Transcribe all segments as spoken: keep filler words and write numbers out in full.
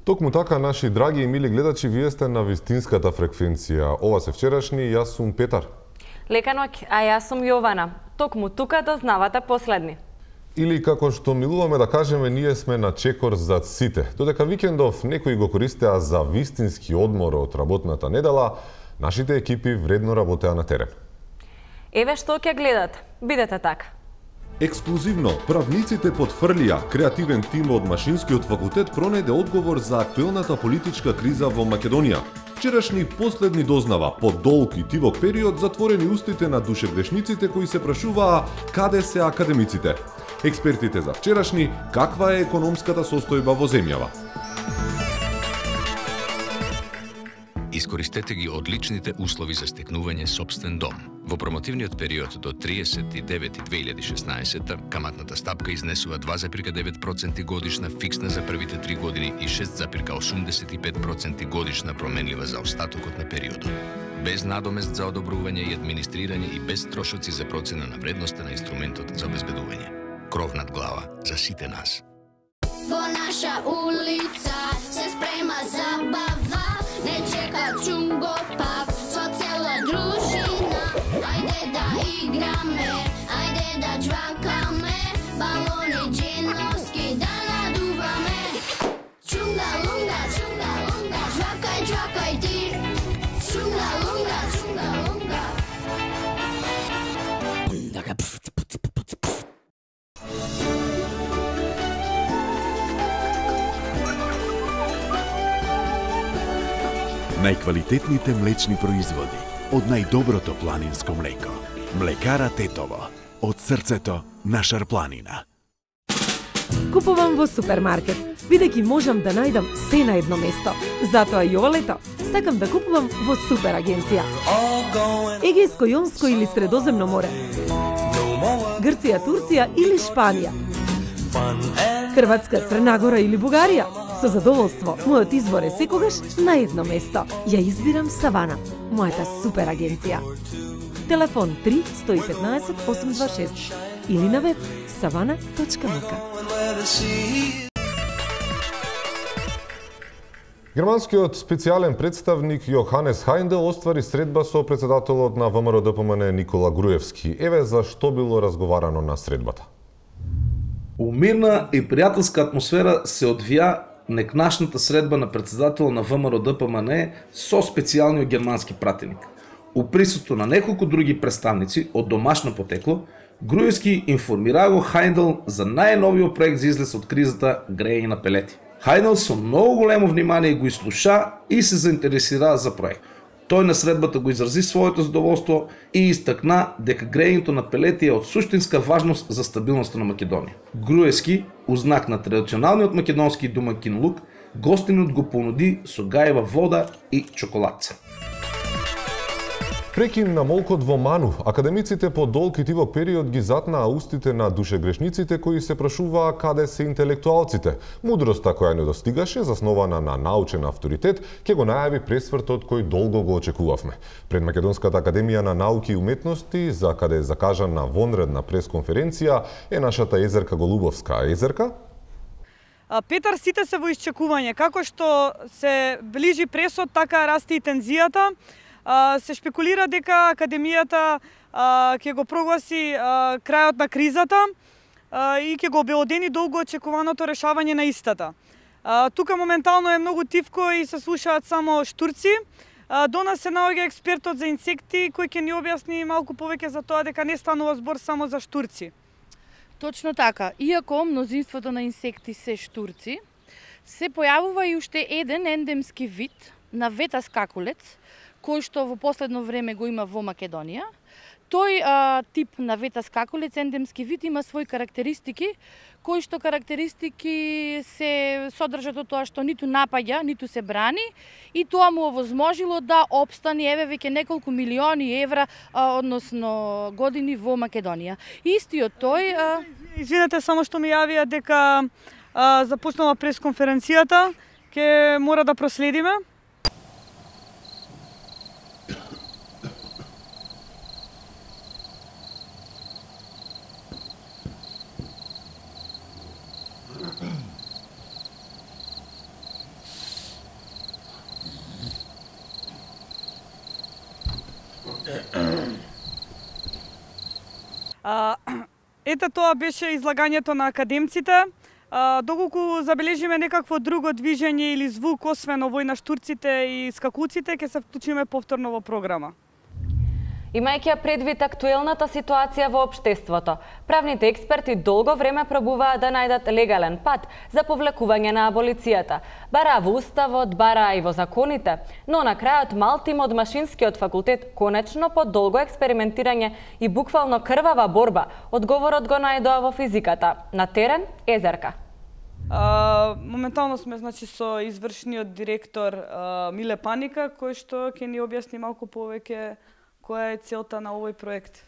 Токму така, наши драги и мили гледачи, вие сте на вистинската фреквенција. Ова се вчерашни, јас сум Петар. Лека ноќ, а јас сум Јована. Токму тука дознавате последни. Или како што милуваме да кажеме, ние сме на чекор зад сите. Додека викендов некои го користеа за вистински одмор од работната недела, нашите екипи вредно работеа на терен. Еве што ќе гледате. Бидете така. Ексклузивно, правниците потврлија, креативен тим од Машинскиот факултет пронајде одговор за актуелната политичка криза во Македонија. Вчерашни последни дознава, по долг и тивок период, затворени устите на душегрешниците кои се прашуваа каде се академиците. Експертите за вчерашни, каква е економската состојба во земјава. Искористете ги одличните услови за стекнување сопствен дом. Во промотивниот период до триесет и девети две илјади и шеснаесета каматната стапка изнесува два зарез девет проценти годишна фиксна за првите три години и шест зарез осумдесет и пет проценти годишна променлива за остатокот на периодот. Без надомест за одобрување и администрирање и без трошоци за процена на вредноста на инструментот за обезбедување. Кров над глава за сите нас. Во наша улица се спрема забава, не чека чунго пак со цела дружина. Ајде да играме, ајде да џвакаме, балони джиновски да надуваме. Чунга лунга, чунга лунга, џвакај, џвакај ти. Чунга лунга, чунга лунга. Најквалитетните млечни производи од најдоброто планинско млеко. Млекара Тетово, од срцето на Шарпланина. Купувам во супермаркет, бидејќи можам да најдам се на едно место. Затоа и ова лето сакам да купувам во супер агенција. Егејско, Јонско или Средоземно море. Грција, Турција или Шпанија. Хрватска, Црна Гора или Бугарија. Со задоволство, мојот избор е секогаш на едно место. Ја избирам Савана, мојата супер агенција. Телефон три сто и петнаесет осум два шест или на веб savana точка m k. Германскиот специјален представник Јоханес Хајндел оствари средба со председателот на ВМРО Д П М Н Никола Груевски. Еве за што било разговарано на средбата. У мирна и пријателска атмосфера се одвија некнашната средба на председател на ВМРО Д П М Н со специјалниот германски пратеник. У присуство на неколку други представници од домашно потекло, Груевски информира го Хајндел за најновиот проект за излез од кризата грејење на пелети. Хајндел со многу големо внимание го изслуша и се заинтересира за проект. Тој на средбата го изрази своето задоволство и истакна дека грејењето на пелети е од суштинска важност за стабилноста на Македонија. Груевски, у знак на традиционалниот македонски домаќин лук, гостинот го понуди со гајева вода и чоколадца. Прекин на молкот во Ману, академиците по долг и тивок период ги затнаа устите на душегрешниците кои се прашуваа каде се интелектуалците. Мудроста која не достигаше, заснована на научен авторитет, ќе го најави пресвртот кој долго го очекувавме. Пред Македонската академија на науки и уметности, за каде е закажана вонредна пресконференција, е нашата Езерка Голубовска. Езерка? Петар, сите се во исчекување. Како што се ближи пресот, така расте и тензијата. Се шпекулира дека академијата ќе го прогласи крајот на кризата и ќе го обелодени долго очекуваното решавање на истата. Тука моментално е многу тивко и се слушаат само штурци. До нас се наоѓа експертот за инсекти кој ќе ни објасни малку повеќе за тоа дека не станува збор само за штурци. Точно така. Иако мнозинството на инсекти се штурци, се појавува и уште еден ендемски вид на ветас какулец, кој што во последно време го има во Македонија. Тој а, тип на ветас какулец, ендемски вид, има своји карактеристики, кои што карактеристики се содржат од тоа што ниту напаѓа, ниту се брани, и тоа му овозможило да опстани еве веќе неколку милиони евра, а, односно години во Македонија. Истиот тој... А... Извинете, само што ми јавија дека а, започнала пресконференцијата, ќе мора да проследиме. Ете, тоа беше излагањето на академците. Доколку забележиме некакво друго движење или звук, освен овој на штурците и скакуците, ќе се вклучиме повторно во програма. Имајќи предвид актуелната ситуација во општеството, правните експерти долго време пробуваат да најдат легален пат за повлекување на аболицијата. Бара во уставот, бара и во законите, но на крајот мал тим од Машинскиот факултет конечно по долго експериментирање и буквално крвава борба, одговорот го најдоа во физиката. На терен Езерка. А, моментално сме значи со извршниот директор а, Миле Паника, кој што ќе ни објасни малку повеќе која е целта на овој проект?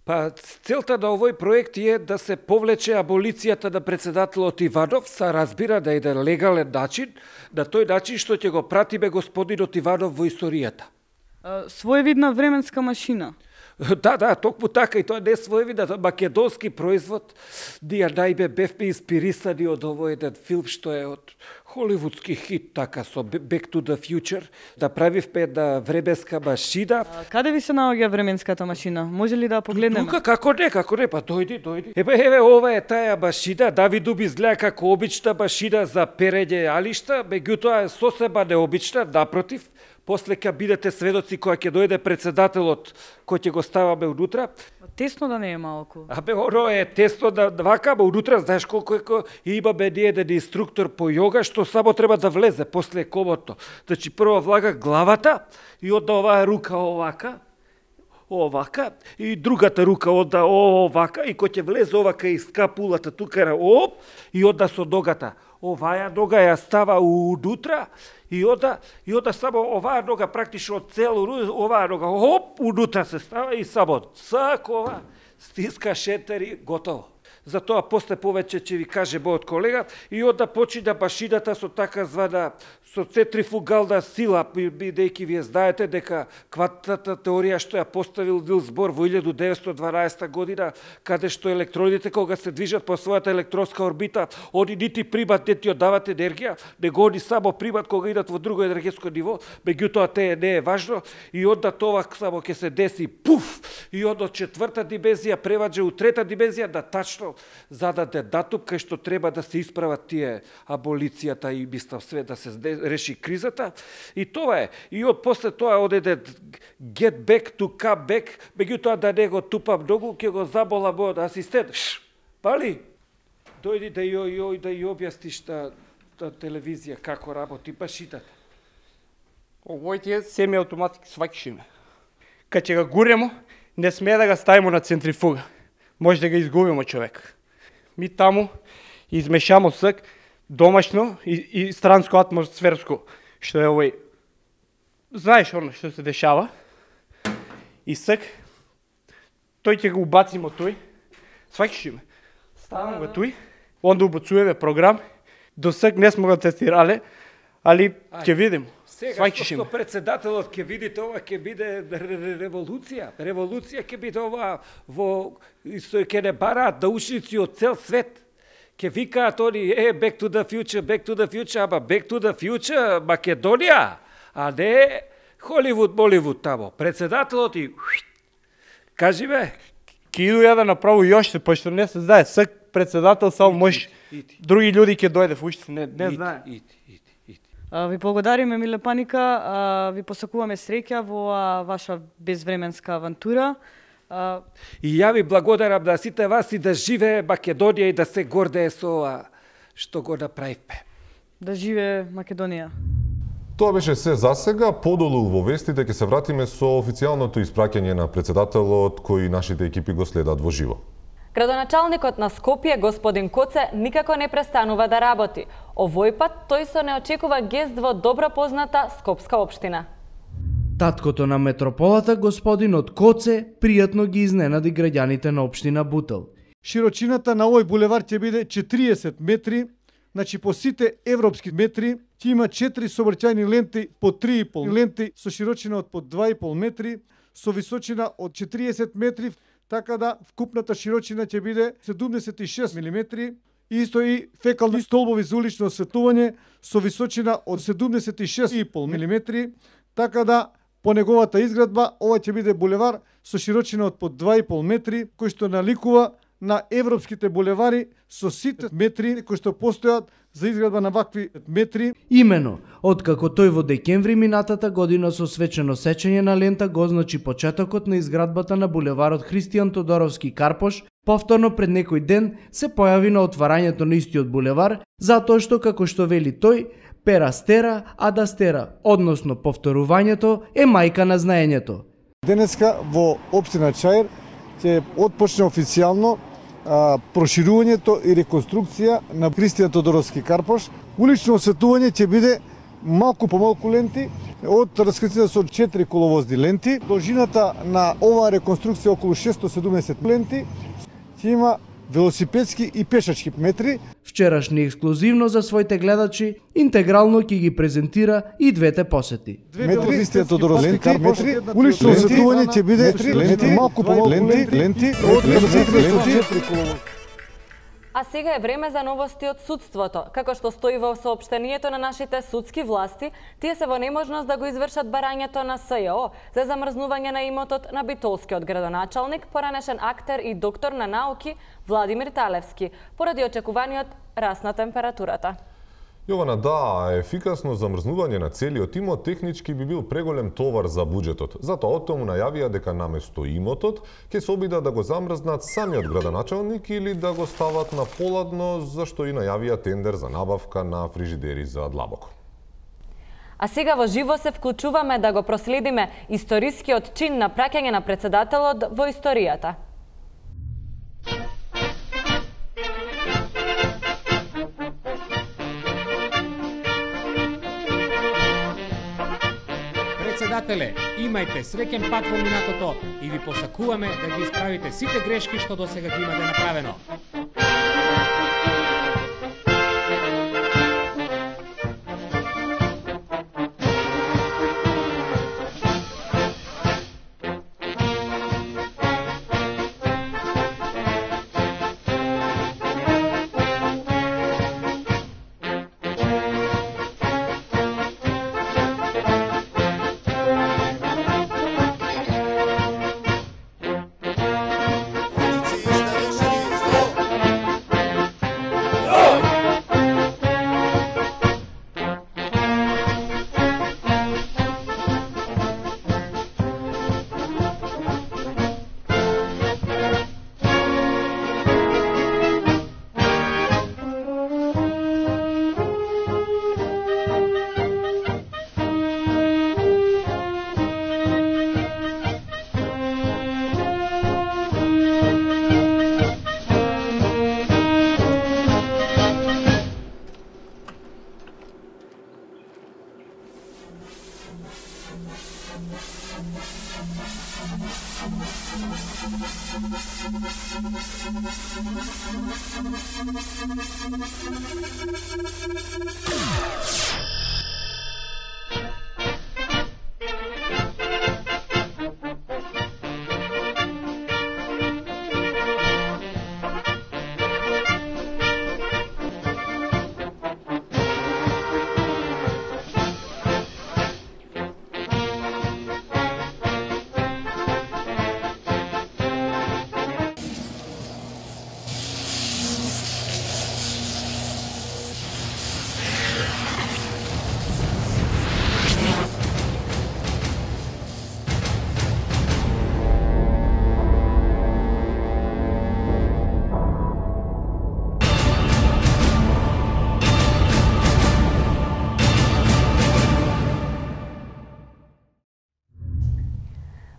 Па, целта на овој проект е да се повлече аболицијата на председателот Иванов, са разбира да е да легален начин, на тој начин што ќе го пратиме господинот Иванов во историјата. Своевидна временска машина. Да, да, токму така, и тоа не е своевиден македонски производ. Ние најме бевме инспирисани од овој еден филм што е од холивудски хит, така, со Back to the Future. Да правивме една временска машина. А, каде ви се наоѓа временската машина? Може ли да погледнеме? Тука, како не, како не, па дојди, дојди. Ебе, еве, ова е таа машина. Давиду би изгледа како обична машина за перење алишта, меѓутоа е сосема необична, напротив. После ќе бидете сведоци кога ќе дојде председателот кој ќе го ставаме унутра. Тесно да не е малку. Абе, оно е тесно да вака, ама унутра знаеш колку е, имаме ние еден инструктор по јога што само треба да влезе после комото. Значи прво влага главата и одда оваа рука овака, овака, и другата рука одда овака, и кој ќе влезе овака и скапулата тука, оп, и одда со ногата. Оваја нога ја става унутра и ода и ода само оваа нога практично цело оваа нога оп унутра се става и само цакова стиска шетер и готово. Затоа после повеќе ќе ви каже мојот колега и ода почина машината со така звана со центрифугална сила, бидејќи вие знаете дека квантната теорија што ја поставил Нилс Бор во илјаду деветстотини и дванаесета година, каде што електродите кога се движат по својата електронска орбита, они нити примат, нити оддават енергија, него они само примат кога идат во друго енергетско ниво, меѓутоа те не е важно и онда тоа само ќе се деси пуф и од четврта димензија преваѓа у трета димензија да тачно зададе датум кај што треба да се исправат тие аболицијата и мислам све да се реши кризата. И тоа е. И од после тоа одеде get back to come back, меѓутоа да не го тупам многу, ќе го забола мојот асистент. Пали, дојди да ја ја да ја објасниш на, на телевизија како работи машината. Овој е семи автоматик свакшиме. Кога ќе го гуремо, не смее да го ставимо на центрифуга. Може да го изгубимо човек. Ми таму измешамо сак домашно и, и странско атмосферско, што е овој. Знаеш оно што се дешава? И сак тој ќе го убацимо тој. Сваќаш ме. Ставам го тој, онда убацуваме програм. До сак не сме го тестирале, али ќе видим. Сега што председателот ќе видите ова ќе биде револуција. Револуција ќе биде ова во ќе не бараат научници од цел свет. Ќе викаат они е back to the future, back to the future, ама back to the future Македонија, а не Холивуд, Боливуд тамо. Председателот и кажи бе. Ке иду ја да направу јоште, пошто не се знае, сак председател само може. Други луѓе ќе дојде уште, не не знае. Ви благодариме, Миле Паника, ви посакуваме среќа во ваша безвременска авантура. И ја ви благодарам на сите вас и да живее Македонија и да се гордее со ова што го направивме. Да живее Македонија. Тоа беше се за сега. Подолу во вестите ќе се вратиме со официјалното испраќање на председателот кој нашите екипи го следат во живо. Градоначалникот на Скопје, господин Коце, никако не престанува да работи. Овој пат тој со неочекува гест во добро позната Скопска општина. Таткото на метрополата, господинот Коце, пријатно ги изненади граѓаните на општина Бутел. Широчината на овој булевар ќе биде четириесет метри, значи по сите европски метри, ќе има четири сообраќајни ленти по три и пол ленти со широчина од по два и пол метри, со височина од четириесет метри, така да вкупната широчина ќе биде седумдесет и шест милиметри, исто и фекални столбови за улично осветлување со височина од седумдесет и шест и пол милиметри, така да по неговата изградба ова ќе биде булевар со широчина од по два и пол метри, кој што наликува на европските булевари со сите метри кои што постојат за изградба на вакви метри. Имено, откако тој во декември минатата година со свечено сечење на лента го означи почетокот на изградбата на булеварот Христијан Тодоровски Карпош, повторно пред некој ден се појави на отварањето на истиот булевар, затоа што, како што вели тој, пера стера, а да стера, односно повторувањето е мајка на знаењето. Денеска во општина Чаир ќе отпочне официјално а, проширувањето и реконструкција на Христијан Тодоровски Карпош. Улично осветување ќе биде малку помалку ленти, од раскритите со четири коловозни ленти. Должината на оваа реконструкција околу шестоста седумдесет ленти, ќе има велосипедски и пешачки метри. Вчерашни ексклузивно за своите гледачи, интегрално ќе ги презентира и двете посети. Метри, Христијан Тодоровски Карпош, улично осветување ќе биде ленти, малку помалку ленти, ленти, од раскритите со четири коловозни. А сега е време за новости од судството. Како што стои во соопштението на нашите судски власти, тие се во неможност да го извршат барањето на СЈО за замрзнување на имотот на битолскиот градоначалник, поранешен актер и доктор на науки Владимир Талевски, поради очекуваниот раст на температурата. Јована, да, ефикасно замрзнување на целиот имот технички би бил преголем товар за буџетот. Затоа од тому најавија дека наместо имотот ќе се обидат да го замрзнат самиот градоначалник или да го стават на поладно, зашто и најавија тендер за набавка на фрижидери за длабоко. А сега во живо се вклучуваме да го проследиме историскиот чин на праќање на претседателот во историјата. Председателе, имајте среќен пат во минатото и ви посакуваме да ги исправите сите грешки што досега ги имате направено.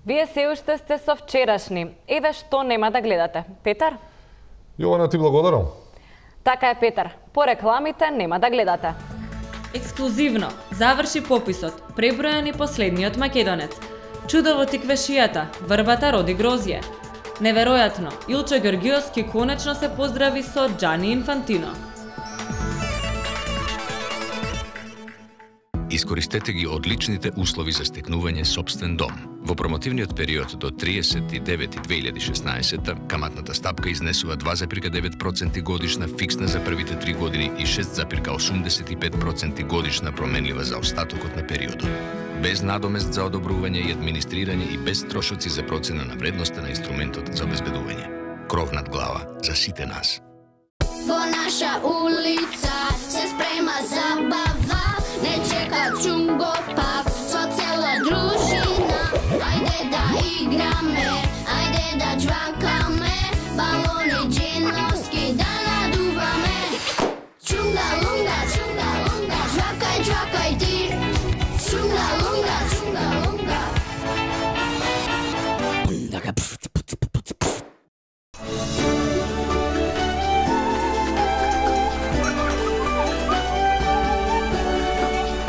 Вие се уште сте со вчерашни. Еве што нема да гледате. Петар? Јована, ти благодарам. Така е, Петар. По рекламите нема да гледате. Ексклузивно заврши пописот, пребројан и последниот македонец. Чудо во тиквешијата, врбата роди грозје. Неверојатно, Илчо Георгиовски конечно се поздрави со Џани Инфантино. Искористете ги одличните услови за стекнување сопствен дом. Во промотивниот период до триесет и девети две илјади и шеснаесета, каматната стапка изнесува два запирка девет проценти годишна фиксна за првите три години и шест запирка осумдесет и пет проценти годишна променлива за остатокот на периодот. Без надомест за одобрување и администрирање и без трошоци за процена на вредноста на инструментот за обезбедување. кров над глава за сите нас. Во наша улица се спрема забава, не чека чунго пак со цела дружина. Ајде да играме, ајде да джвакаме, балони джиновски да надуваме. Чунга лунга, чунга лунга, джвакај, джвакај ти. Чунга лунга, чунга лунга.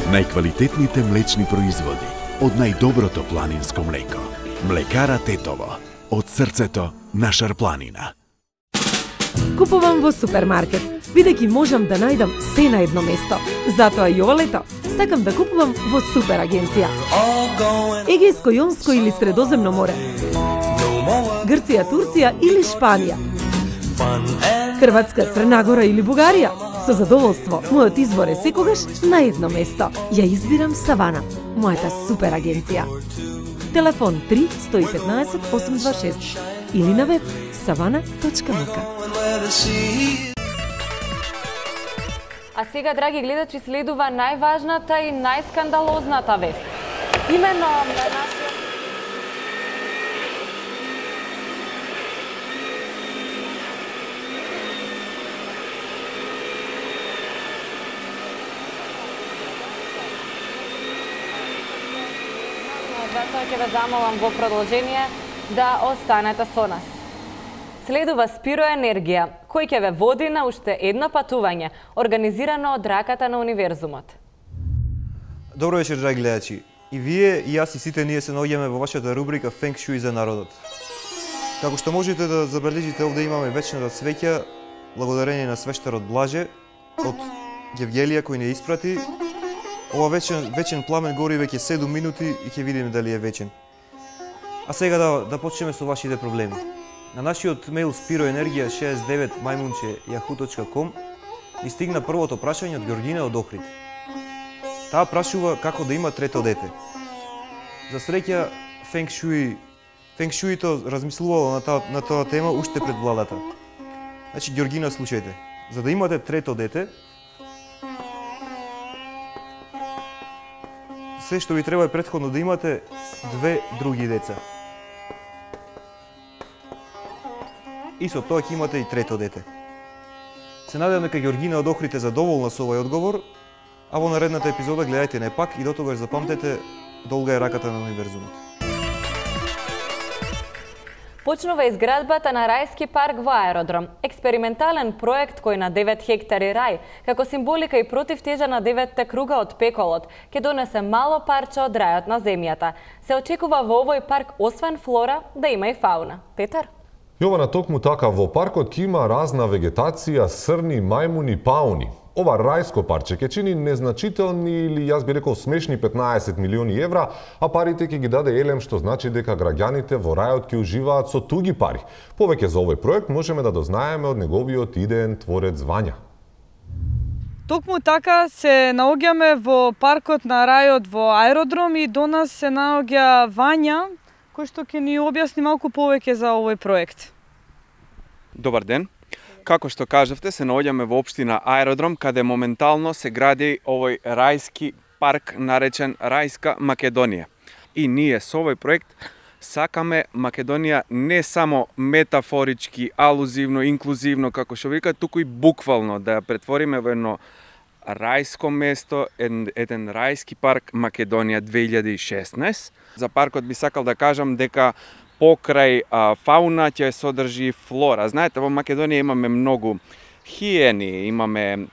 Најквалитетните млечни производи од најдоброто планинско млеко. Млекара Тетово. Од срцето на Шарпланина. Купувам во супермаркет, бидејќи можам да најдам се на едно место. Затоа и ова лето сакам да купувам во супер агенција. Егејско, Јонско или Средоземно море. Грција, Турција или Шпанија. Хрватска, Црна Гора или Бугарија. Со задоволство, мојот избор е секогаш на едно место. Ја избирам Савана, мојата супер агенција. Телефон три сто и петнаесет осум два шест или на веб savana точка m k. А сега, драги гледачи, следува најважната и најскандалозната вест. Имено на нашиот Затоа ќе ве замолам во продолжение да останете со нас. Следува Спиро Енергија, кој ќе ве води на уште едно патување, организирано од раката на универзумот. Добро вечер, драги гледачи. И вие, и јас, и сите ние се наоѓаме во вашата рубрика Фенг Шуи за народот. Како што можете да забележите, овде имаме вечната свеќа, благодарение на свештарот Блаже, од Гевгелија кој не испрати. Ова вечен, вечен пламен гори веќе седум минути и ќе видиме дали е вечен. А сега да, да почнеме со вашите проблеми. На нашиот мејл спироенергија шеесет девет мајмунче јаху точка ком ни стигна првото прашање од Георгина од Охрид. Таа прашува како да има трето дете. За среќа, Фенг Шуи, Фенг Шуито размислувало на таа, на тоа тема уште пред владата. Значи, Георгина, слушајте. За да имате трето дете, се што ви треба е претходно да имате две други деца. И со тоа ќе имате и трето дете. Се надевам дека Георгина од Охрид е задоволна со овој одговор, а во наредната епизода гледајте не пак и дотогаш запамтете, долга е раката на универзумот. Почнува изградбата на рајски парк во аеродром. Експериментален проект кој на девет хектари рај, како символика и противтежа на деветте круга од пеколот, ќе донесе мало парче од рајот на земјата. Се очекува во овој парк освен флора да има и фауна. Петар? Јована, токму така, во паркот ќе има разна вегетација, срни, мајмуни, пауни. Ова рајско парче ќе чини незначителни или, јас би рекол, смешни петнаесет милиони евра, а парите ќе ги даде Елем, што значи дека граѓаните во рајот ќе уживаат со туги пари. Повеќе за овој проект можеме да дознаеме од неговиот идеен творец Вања. Токму така се наоѓаме во паркот на рајот во аеродром и до нас се наоѓа Вања, кој што ќе ни објасни малку повеќе за овој проект. Добар ден. Како што кажавте, се наоѓаме во општина Аеродром, каде моментално се гради овој рајски парк наречен Рајска Македонија. И ние со овој проект сакаме Македонија не само метафорички, алузивно, инклузивно, како што вика, туку и буквално да ја претвориме во едно рајско место, еден, еден рајски парк Македонија две илјади и шеснаесет. За паркот би сакал да кажам дека покрај а, фауна ќе содржи флора. Знаете, во Македонија имаме многу хиени, имаме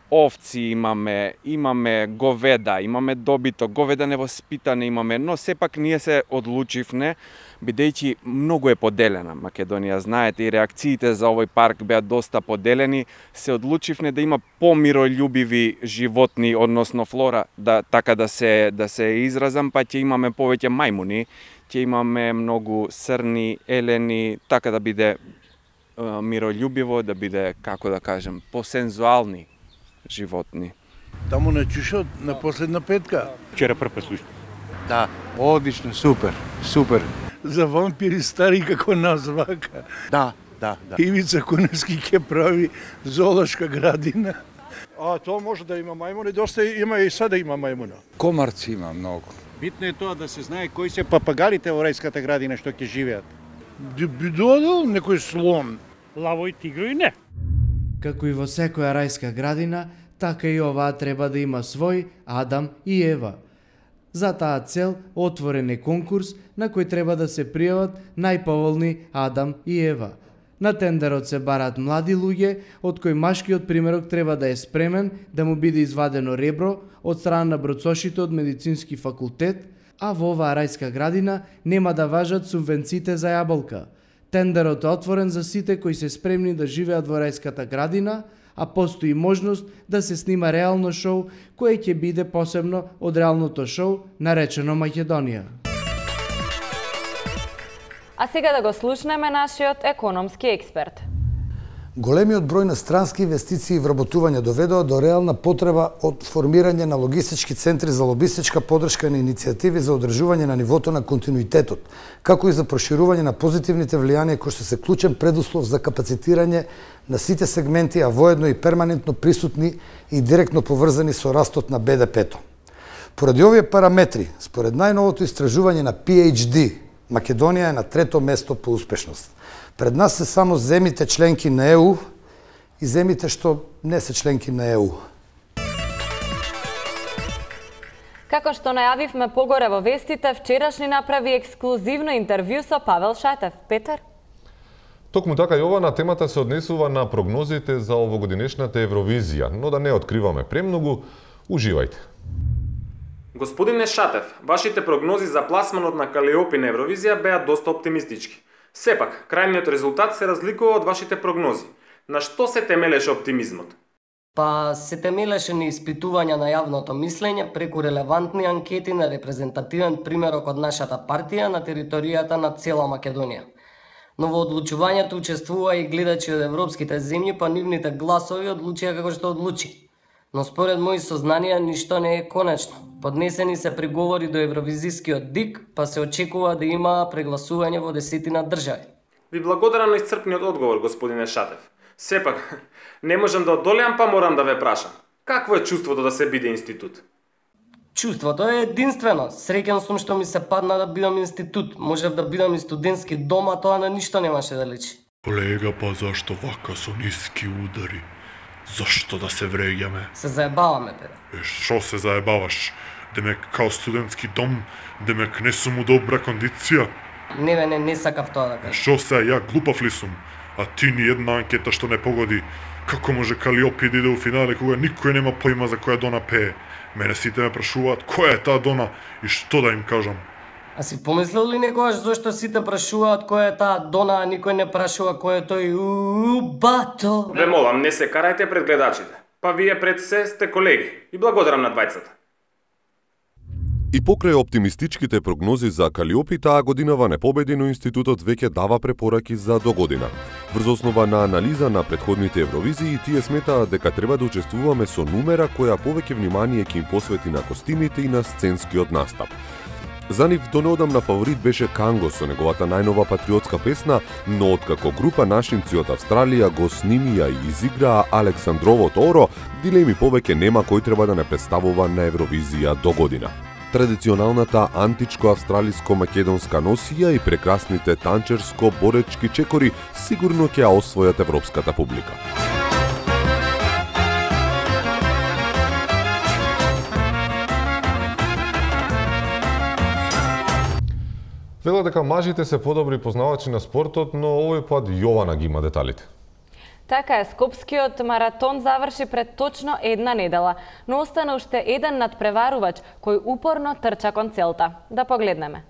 овци, имаме, имаме говеда, имаме добито, говеда невоспитане имаме, но сепак ние се одлучивме, бидејќи многу е поделена Македонија. Знаете, и реакциите за овој парк беа доста поделени, се одлучивме да има помирољубиви животни, односно флора, да така да се да се изразам, па ќе имаме повеќе мајмуни, ќе имаме многу срни, елени, така да биде е, мирољубиво, да биде, како да кажем, посензуални животни. Таму на Чушот, на последна петка. Вчера прв пат слушам. Да, одлично, супер, супер. За вампири стари како нас вака. Да, Да, да. Ивица Куневски ќе прави зоолошка градина. А тоа може да има мајмуни, доста има и сега има мајмуна. Комарци има многу. Битно е тоа да се знае кои се папагалите во рајската градина што ќе живеат. Би додел некој слон. Лаво и тигро и не. Како и во секоја рајска градина, така и оваа треба да има свој Адам и Ева. За таа цел отворен е конкурс на кој треба да се пријават најповолни Адам и Ева. На тендерот се бараат млади луѓе, од кои машкиот примерок треба да е спремен да му биде извадено ребро од страна на броцошите од медицински факултет, а во оваа рајска градина нема да важат субвенциите за јаболка. Тендерот е отворен за сите кои се спремни да живеат во рајската градина, а постои можност да се снима реално шоу кое ќе биде посебно од реалното шоу наречено Македонија. А сега да го слушнеме нашиот економски експерт. Големиот број на странски инвестиции и вработување доведоа до реална потреба од формирање на логистички центри за лобистичка подршка на иницијативи за одржување на нивото на континуитетот, како и за проширување на позитивните влијанија кои што се клучен предуслов за капацитирање на сите сегменти, а воедно и перманентно присутни и директно поврзани со растот на Б Д П-то. Поради овие параметри, според најновото истражување на П H D, Македонија е на трето место по успешност. Пред нас се само земите членки на Е У и земите што не се членки на Е У. Како што најавивме погоре во вестите, вчерашни направи ексклузивно интервју со Павел Шатев. Петар? Токму така, Јована, темата се однесува на прогнозите за овогодинешната Евровизија, но да не откриваме премногу, уживајте. Господине Шатев, вашите прогнози за пласманот на Калиопи на Евровизија беа доста оптимистички. Сепак, крајниот резултат се разликува од вашите прогнози. На што се темелеше оптимизмот? Па се темелеше на испитувања на јавното мислење преку релевантни анкети на репрезентативен примерок од нашата партија на територијата на цела Македонија. Но во одлучувањето учествува и гледачи од европските земји, па нивните гласови одлучија како што одлучи. Но според мои сознанија ништо не е конечно. Поднесени се приговори до евровизискиот ДИК, па се очекува да има прегласување во десетина држави. Ви благодарам на исцрпниот одговор, господине Шатев. Сепак, не можам да одолеам, па морам да ве прашам. Какво е чувството да се биде институт? Чувството е единствено. Среќен сум што ми се падна да бидам институт. Можев да бидам и студентски дом, а тоа на ништо немаше да личи. Колега, па зашто вака со ниски удари? Зашто да се вреѓаме? Се заебаваме, бе. Е, шо се заебаваш? Демек као студентски дом, демек не сум у добра кондиција? Не, бе, не, не сакав тоа да кажам. Шо се, ја глупав ли сум? А ти ни една анкета што не погоди. Како може Калиопи да иде у финале кога никој нема појма за која Дона пее? Мене сите ме прашуваат која е таа Дона и што да им кажам. А си помислил ли некогаш зашто сите прашуваат која е таа Дона, а никој не прашува кој е тој бато? Ве молам, не се карајте пред гледачите. Па вие пред се сте колеги. И благодарам на двајцата. И покрај оптимистичките прогнози за Калиопи, таа годинава не победи, но институтот веќе дава препораки за догодина. Врз основа на анализа на претходните Евровизии, тие сметаат дека треба да учествуваме со нумера која повеќе внимание ќе им посвети на костимите и на сценскиот настап. За нив до неодамна фаворит беше Канго со неговата најнова патриотска песна, но откако група нашинци од Австралија го снимија и изиграа Александровото Оро, дилеми повеќе нема кој треба да не представува на Евровизија до година. Традиционалната античко-австралиско-македонска носија и прекрасните танчерско-боречки чекори сигурно ќе ја освојат европската публика. Велат дека мажите се подобри познавачи на спортот, но овој пат Јована ги има деталите. Така е, Скопскиот маратон заврши пред точно една недела, но остана уште еден надпреварувач кој упорно трча кон целта. Да погледнеме.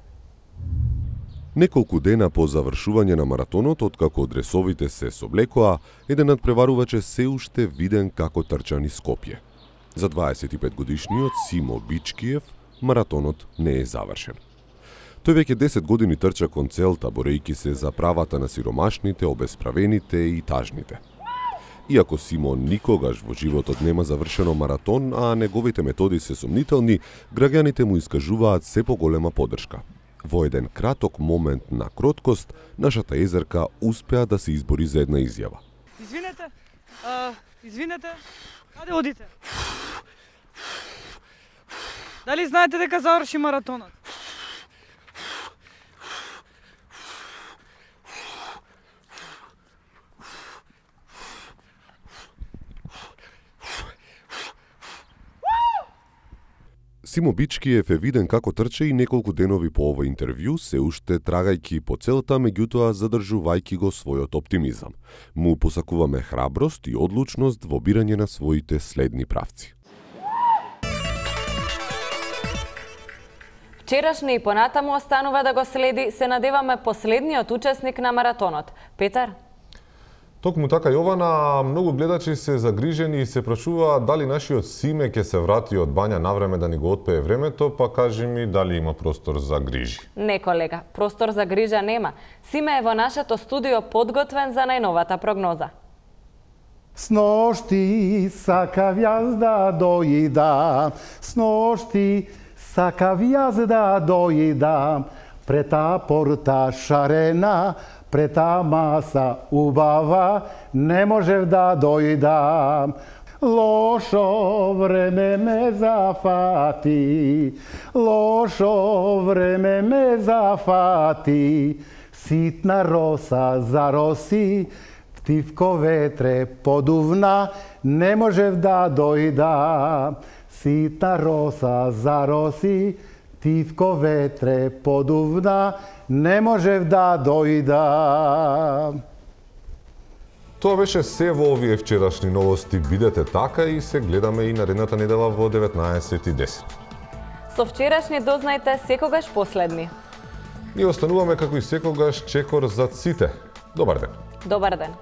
Неколку дена по завршување на маратонот, откако дресовите се соблекоа, еден надпреварувач е се уште виден како трча низ Скопје. За дваесет и пет годишниот Симо Бичкиев маратонот не е завршен. Тој веќе десет години трча кон целта, борејќи се за правата на сиромашните, обесправените и тажните. Иако Симон никогаш во животот нема завршено маратон, а неговите методи се сомнителни, граѓаните му искажуваат се поголема поддршка. Во еден краток момент на кроткост, нашата езерка успеа да се избори за една изјава. Извинете, а, извинете, каде одите? Дали знаете дека заврши маратонот? Симо Бичкиев е виден како трче и неколку денови по ова интервју, се уште трагајќи по целта, меѓутоа задржувајќи го својот оптимизам. Му посакуваме храброст и одлучност во бирање на своите следни правци. Вчерашни и понатаму останува да го следи, се надеваме, последниот учесник на маратонот. Петар? Токму така, Јована, многу гледачи се загрижени и се прашуваат дали нашиот Симе ќе се врати од бања навреме да ни го отпее времето, па кажи ми дали има простор за грижи. Не, колега, простор за грижа нема. Симе е во нашето студио подготвен за најновата прогноза. Сношти сакав јас да дојдам, сношти сакав јас да дојдам, пред та порта шарена, пред та маса убава, не можев да дојдам. Лошо време ме зафати, лошо време ме зафати, ситна роса зароси, птивко ветре подувна, не можев да дојдам. Ситна роса зароси, птивко ветре подувна, не можев да дојдам. Тоа беше се во овие вчерашни новости. Бидете така и се гледаме и наредната недела во деветнаесет и десет. Со вчерашни дознајте секогаш последни. Ние остануваме како и секогаш чекор за сите. Добар ден. Добар ден.